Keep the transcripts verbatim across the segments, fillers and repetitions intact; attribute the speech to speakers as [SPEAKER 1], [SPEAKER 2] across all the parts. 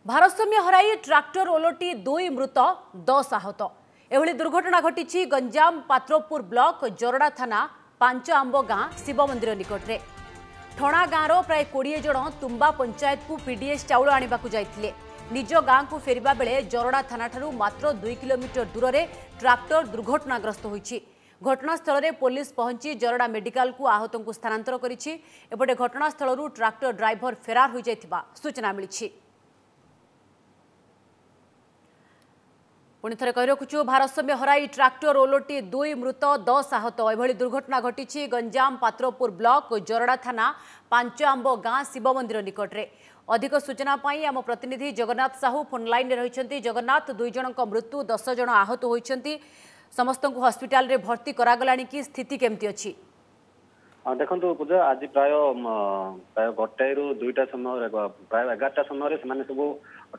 [SPEAKER 1] ଭାରସାମ୍ୟ ହରାଇ ଟ୍ରାକ୍ଟର ଓଲଟି ଦୁଇ ମୃତ ଦଶ ଆହତ। ଏଭଳି ଦୁର୍ଘଟଣା ଘଟିଛି ଗଞ୍ଜାମ ପାତ୍ରପୁର ବ୍ଲକ ଜରଡ଼ା ଥାନା ପାଞ୍ଚ ଆମ୍ବ ଗାଁ ଶିବ ମନ୍ଦିର ନିକଟରେ। ଠଣା ଗାଁର ପ୍ରାୟ କୋଡ଼ିଏ ଜଣ ତୁମ୍ବା ପଞ୍ଚାୟତକୁ ପିଡିଏସ୍ ଚାଉଳ ଆଣିବାକୁ ଯାଇଥିଲେ। ନିଜ ଗାଁକୁ ଫେରିବା ବେଳେ ଜରଡ଼ା ଥାନାଠାରୁ ମାତ୍ର ଦୁଇ କିଲୋମିଟର ଦୂରରେ ଟ୍ରାକ୍ଟର ଦୁର୍ଘଟଣାଗ୍ରସ୍ତ ହୋଇଛି। ଘଟଣାସ୍ଥଳରେ ପୋଲିସ ପହଞ୍ଚି ଜରଡ଼ା ମେଡିକାଲକୁ ଆହତଙ୍କୁ ସ୍ଥାନାନ୍ତର କରିଛି। ଏପଟେ ଘଟଣାସ୍ଥଳରୁ ଟ୍ରାକ୍ଟର ଡ୍ରାଇଭର ଫେରାର ହୋଇଯାଇଥିବା ସୂଚନା ମିଳିଛି। ପୁଣି ଥରେ କହି ରଖୁଛୁ, ଭାରସାମ୍ୟ ହରାଇ ଟ୍ରାକ୍ଟର ଓଲଟି ଦୁଇ ମୃତ ଦଶ ଆହତ। ଏଭଳି ଦୁର୍ଘଟଣା ଘଟିଛି ଗଞ୍ଜାମ ପାତ୍ରପୁର ବ୍ଲକ ଜରଡ଼ା ଥାନା ପାଞ୍ଚ ଆମ୍ବ ଗାଁ ଶିବ ମନ୍ଦିର ନିକଟରେ। ଅଧିକ ସୂଚନା ପାଇଁ ଆମ ପ୍ରତିନିଧି ଜଗନ୍ନାଥ ସାହୁ ଫୋନ୍ ଲାଇନ୍ରେ ରହିଛନ୍ତି। ଜଗନ୍ନାଥ, ଦୁଇ ଜଣଙ୍କ ମୃତ୍ୟୁ, ଦଶ ଜଣ ଆହତ ହୋଇଛନ୍ତି, ସମସ୍ତଙ୍କୁ ହସ୍ପିଟାଲରେ ଭର୍ତ୍ତି କରାଗଲାଣି କି? ସ୍ଥିତି କେମିତି ଅଛି?
[SPEAKER 2] ଦେଖନ୍ତୁ ପୂଜା, ଆଜି ପ୍ରାୟ ପ୍ରାୟ ଗୋଟାଏରୁ ଦୁଇଟା ସମୟରେ, ପ୍ରାୟ ଏଗାରଟା ସମୟରେ ସେମାନେ ସବୁ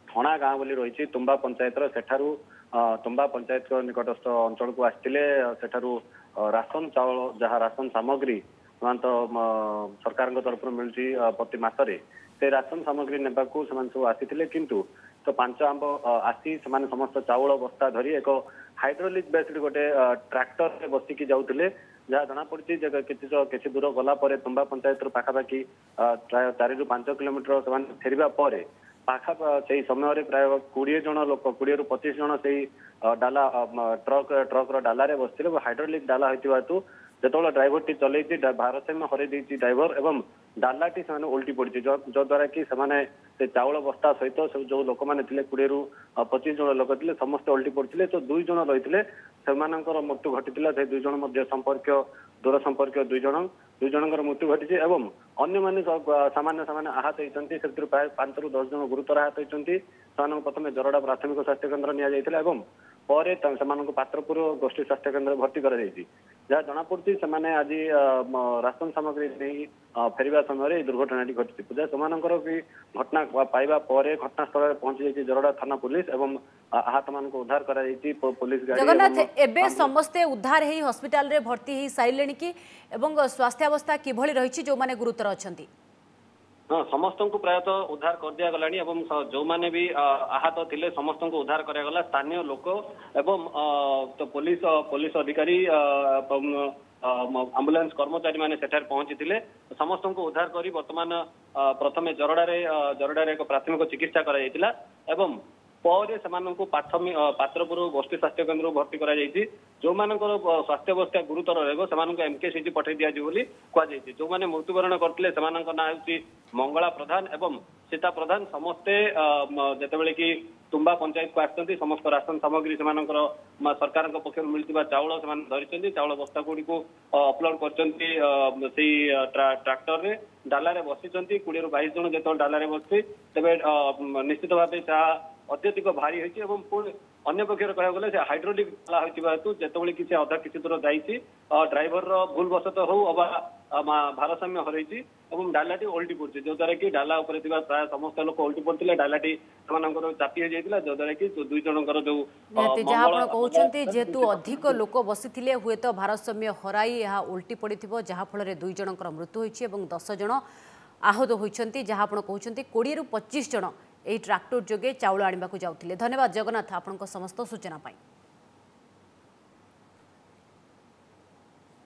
[SPEAKER 2] ଠଣା ଗାଁ ବୋଲି ରହିଛି ତୁମ୍ବା ପଞ୍ଚାୟତର, ସେଠାରୁ ତୁମ୍ବା ପଞ୍ଚାୟତ ନିକଟସ୍ଥ ଅଞ୍ଚଳକୁ ଆସିଥିଲେ। ସେଠାରୁ ରାସନ ଚାଉଳ, ଯାହା ରାସନ ସାମଗ୍ରୀ ସେମାନେ ତ ସରକାରଙ୍କ ତରଫରୁ ମିଳୁଛି ପ୍ରତି ମାସରେ, ସେ ରାସନ ସାମଗ୍ରୀ ନେବାକୁ ସେମାନେ ସବୁ ଆସିଥିଲେ। କିନ୍ତୁ ତ ପାଞ୍ଚ ଆମ୍ବ ଆସି ସେମାନେ ସମସ୍ତ ଚାଉଳ ବସ୍ତା ଧରି ଏକ ହାଇଡ୍ରୋଲିକ୍ ବେସ୍ଡ ଗୋଟେ ଟ୍ରାକ୍ଟରରେ ବସିକି ଯାଉଥିଲେ। ଯାହା ଜଣାପଡିଛି ଯେ କିଛି କିଛି ଦୂର ଗଲା ପରେ ତୁମ୍ବା ପଞ୍ଚାୟତରୁ ପାଖାପାଖି ପ୍ରାୟ ଚାରିରୁ ପାଞ୍ଚ କିଲୋମିଟର ସେମାନେ ଫେରିବା ପରେ ପାଖା ସେଇ ସମୟରେ ପ୍ରାୟ କୋଡ଼ିଏ ଜଣ ଲୋକ, କୋଡ଼ିଏରୁ ପଚିଶ ଜଣ ସେଇ ଡାଲା ଟ୍ରକ୍ ଟ୍ରକର ଡାଲାରେ ବସିଥିଲେ। ହାଇଡ୍ରୋଲିକ୍ ଡାଲା ହୋଇଥିବା ହେତୁ ଯେତେବେଳେ ଡ୍ରାଇଭରଟି ଚଲେଇଛି, ଭାରସାମ୍ୟ ହରାଇ ଦେଇଛି ଡ୍ରାଇଭର ଏବଂ ଡାଲାଟି ସେମାନେ ଓଲଟି ପଡିଛି, ଯଦ୍ୱାରା କି ସେମାନେ ସେ ଚାଉଳ ବସ୍ତା ସହିତ ସବୁ ଯୋଉ ଲୋକମାନେ ଥିଲେ, କୋଡ଼ିଏରୁ ପଚିଶ ଜଣ ଲୋକ ଥିଲେ, ସମସ୍ତେ ଓଲଟି ପଡିଥିଲେ। ତ ଦୁଇ ଜଣ ରହିଥିଲେ, ସେମାନଙ୍କର ମୃତ୍ୟୁ ଘଟିଥିଲା। ସେ ଦୁଇ ଜଣ ମଧ୍ୟ ସମ୍ପର୍କୀୟ, ଦୂର ସମ୍ପର୍କୀୟ ଦୁଇ ଜଣ, ଦୁଇ ଜଣଙ୍କର ମୃତ୍ୟୁ ଘଟିଛି ଏବଂ ଅନ୍ୟମାନେ ସାମାନ୍ୟ ସାମାନ୍ୟ ଆହତ ହେଇଛନ୍ତି। ସେଥିରୁ ପ୍ରାୟ ପାଞ୍ଚରୁ ଦଶ ଜଣ ଗୁରୁତର ଆହତ ହେଇଛନ୍ତି। ସେମାନଙ୍କୁ ପ୍ରଥମେ ଜରଡ଼ା ପ୍ରାଥମିକ ସ୍ୱାସ୍ଥ୍ୟ କେନ୍ଦ୍ର ନିଆଯାଇଥିଲା ଏବଂ ପରେ ସେମାନଙ୍କୁ ପାତ୍ରପୁର ଗୋଷ୍ଠୀ ସ୍ୱାସ୍ଥ୍ୟ କେନ୍ଦ୍ରରେ ଭର୍ତ୍ତି କରାଯାଇଛି। ଯାହା ଜଣାପଡୁଛି, ସେମାନେ ଆଜି ରାସନ ସାମଗ୍ରୀ ନେଇ ଫେରିବା ସମୟରେ ଏହି ଦୁର୍ଘଟଣାଟି ଘଟିଛି। ପୂଜା, ସେମାନଙ୍କର ବି ଘଟଣା ପାଇବା ପରେ ଘଟଣାସ୍ଥଳରେ ପହଞ୍ଚି ଯାଇଛି ଜରଡ଼ା ଥାନା ପୋଲିସ ଏବଂ ଆହତମାନଙ୍କୁ ଉଦ୍ଧାର କରାଯାଇଛି ପୋଲିସ ଗାଡ଼ି।
[SPEAKER 1] ଜଗନ୍ନାଥ, ଏବେ ସମସ୍ତେ ଉଦ୍ଧାର ହେଇ ହସ୍ପିଟାଲରେ ଭର୍ତ୍ତି ହେଇ ସାରିଲେଣି କି ଏବଂ ସ୍ୱାସ୍ଥ୍ୟାବସ୍ଥା କିଭଳି ରହିଛି ଯେଉଁମାନେ ଗୁରୁତର ଅଛନ୍ତି?
[SPEAKER 2] ହଁ, ସମସ୍ତଙ୍କୁ ପ୍ରାୟତଃ ଉଦ୍ଧାର କରିଦିଆଗଲାଣି ଏବଂ ଯୋଉମାନେ ବି ଆହତ ଥିଲେ ସମସ୍ତଙ୍କୁ ଉଦ୍ଧାର କରାଗଲା। ସ୍ଥାନୀୟ ଲୋକ ଏବଂ ପୋଲିସ ପୋଲିସ ଅଧିକାରୀ, ଆମ୍ବୁଲାନ୍ସ କର୍ମଚାରୀ ମାନେ ସେଠାରେ ପହଞ୍ଚିଥିଲେ। ସମସ୍ତଙ୍କୁ ଉଦ୍ଧାର କରି ବର୍ତ୍ତମାନ ପ୍ରଥମେ ଜରଡ଼ାରେ ଜରଡ଼ାରେ ଏକ ପ୍ରାଥମିକ ଚିକିତ୍ସା କରାଯାଇଥିଲା ଏବଂ ପରେ ସେମାନଙ୍କୁ ପାତ୍ରପୁର ଗୋଷ୍ଠୀ ସ୍ୱାସ୍ଥ୍ୟ କେନ୍ଦ୍ରକୁ ଭର୍ତ୍ତି କରାଯାଇଛି। ଯୋଉମାନଙ୍କର ସ୍ୱାସ୍ଥ୍ୟାବସ୍ଥା ଗୁରୁତର ରହିବ ସେମାନଙ୍କୁ ଏମକେସିଜି ପଠାଇ ଦିଆଯିବ ବୋଲି କୁହାଯାଇଛି। ଯୋଉମାନେ ମୃତ୍ୟୁବରଣ କରିଥିଲେ ସେମାନଙ୍କ ନାଁ ହେଉଛି ମଙ୍ଗଳା ପ୍ରଧାନ ଏବଂ ସୀତା ପ୍ରଧାନ। ସମସ୍ତେ ଯେତେବେଳେ କି ତୁମ୍ବା ପଞ୍ଚାୟତକୁ ଆସିଛନ୍ତି, ସମସ୍ତ ରାସନ ସାମଗ୍ରୀ ସେମାନଙ୍କର ସରକାରଙ୍କ ପକ୍ଷରୁ ମିଳିଥିବା ଚାଉଳ ସେମାନେ ଧରିଛନ୍ତି, ଚାଉଳ ବସ୍ତା ଗୁଡିକୁ ଅପଲୋଡ କରିଛନ୍ତି ସେଇ ଟ୍ରାକ୍ଟରରେ, ଡାଲାରେ ବସିଛନ୍ତି। କୋଡ଼ିଏରୁ ବାଇଶ ଜଣ ଯେତେବେଳେ ଡାଲାରେ ବସିଛି, ତେବେ ନିଶ୍ଚିତ ଭାବେ ତାହା ଅତ୍ୟଧିକ ଭାରି ହେଇଛି ଏବଂ ପୁଣି ଅନ୍ୟ ପକ୍ଷରେ କହିବାକୁ ଗଲେ ସେ ହାଇଡ୍ରୋଲିକ୍ ଡାଲା ହୋଇଥିବା ହେତୁ ଯେତେବେଳେ କିଛି ଅଧା କିଛି ଦୂର ଯାଇଛି, ଡ୍ରାଇଭରର ଭୁଲ ବଶତଃ ହଉ ଅବା ଭାରସାମ୍ୟ ହରାଇଛି ଏବଂ ଡାଲାଟି ଓଲଟି ପଡୁଛି, ଯୋଉଦ୍ୱାରା କି ଡାଲା ଉପରେ ଥିବା ପ୍ରାୟ ସମସ୍ତ ଲୋକ ଓଲଟି ପଡିଥିଲେ। ଡାଲାଟି ସେମାନଙ୍କର ଚାପି ହେଇଯାଇଥିଲା, ଯୋଉଦ୍ୱାରା କି ଦୁଇ ଜଣଙ୍କର ଯୋଉ
[SPEAKER 1] ଯାହା ଆପଣ କହୁଛନ୍ତି, ଯେହେତୁ ଅଧିକ ଲୋକ ବସିଥିଲେ, ହୁଏତ ଭାରସାମ୍ୟ ହରାଇ ଏହା ଓଲଟି ପଡ଼ିଥିବ, ଯାହାଫଳରେ ଦୁଇ ଜଣଙ୍କର ମୃତ୍ୟୁ ହୋଇଛି ଏବଂ ଦଶ ଜଣ ଆହତ ହୋଇଛନ୍ତି। ଯାହା ଆପଣ କହୁଛନ୍ତି, କୋଡ଼ିଏରୁ ପଚିଶ ଜଣ ଏହି ଟ୍ରାକ୍ଟର ଯୋଗେ ଚାଉଳ ଆଣିବାକୁ ଯାଉଥିଲେ। ଧନ୍ୟବାଦ ଜଗନ୍ନାଥ ଆପଣଙ୍କ ସମସ୍ତ ସୂଚନା ପାଇଁ।